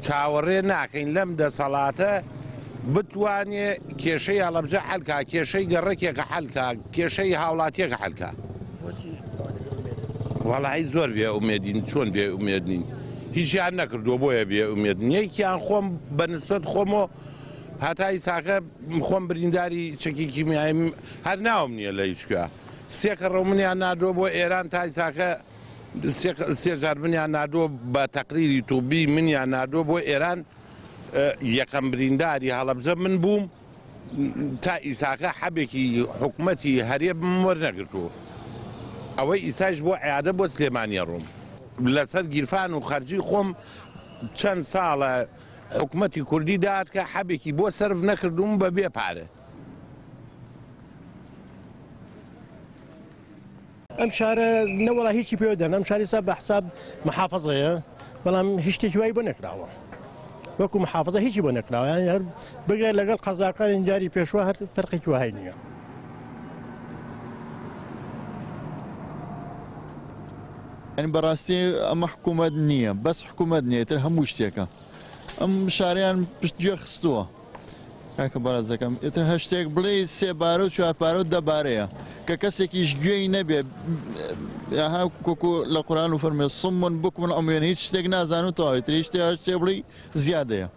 چاوەڕێ ناکەین لەم دەسەڵاتە بتوانێ کێشەی هەڵەبجە حەل کا، کێشەی گەڕەکێکە حەل کا، کێشەی هاوڵاتیەکە حەل کا. وەڵایی زۆر بێ ئومێدین، چۆن بێ ئومێد نین؟ هیچیان نەکردووە بۆیە بێ ئومێدن. یەکیان خۆم بە نسبەت خۆمەوە هەتا ئیساکە خۆم برینداری چەکی کیمیاییم هەر ناوم نییە لە هیچ کوێ. سێ کەڕەو منیان ناردووە بۆ ئێران تا ئیساکە سێ جار منیان ناردووە بە تەقریری توبی منیان ناردووە بۆ ئێران یەکەم برینداری هەڵەبجە من بووم تا ئیساکە حەبێکی حکومەتی هەرێمم وەرنەگرتووە ئەوەی ئیسایش بۆ عیادە بۆ سلێمانیە ڕۆم لەسەر گیرفان و خەرجی خۆم چەند ساڵە حکومەتی کوردی دات کە حەبێکی بۆ سەرف نەکردووم بە بێ پارە. ئەم شارە نەوەڵا هیچی پێوە دەن ئەم شاری سا بە حساب محافظەیە بەڵام هیچ شتێکی وای بۆ نەکراوە وەکو محافظە هیچی بۆ نەکراوە یان هەر بگرە لەگەڵ قەزاکانی جاری پێشوە هەر فەرقێکی وهای نییە. یانی بەڕاستی ئەمە حکوومەت نییە بەس حکوومەت نییە تر هەموو شتێکە ئەم شاریان پشت گوێ خستووە. کاکە بەڕێزەکەم ئیتر هەر شتێک بڵێی سێ بارە و چوار پارە و دە بارەیە کە کەسێکیش گوێی نەبێ ها وەکو لە قورئان و فەرمێ صم بکم عمیان هیچ شتێک نازان و تەواوی تر هیچ شتێ هەر شتێ بڵێی زیادەیە.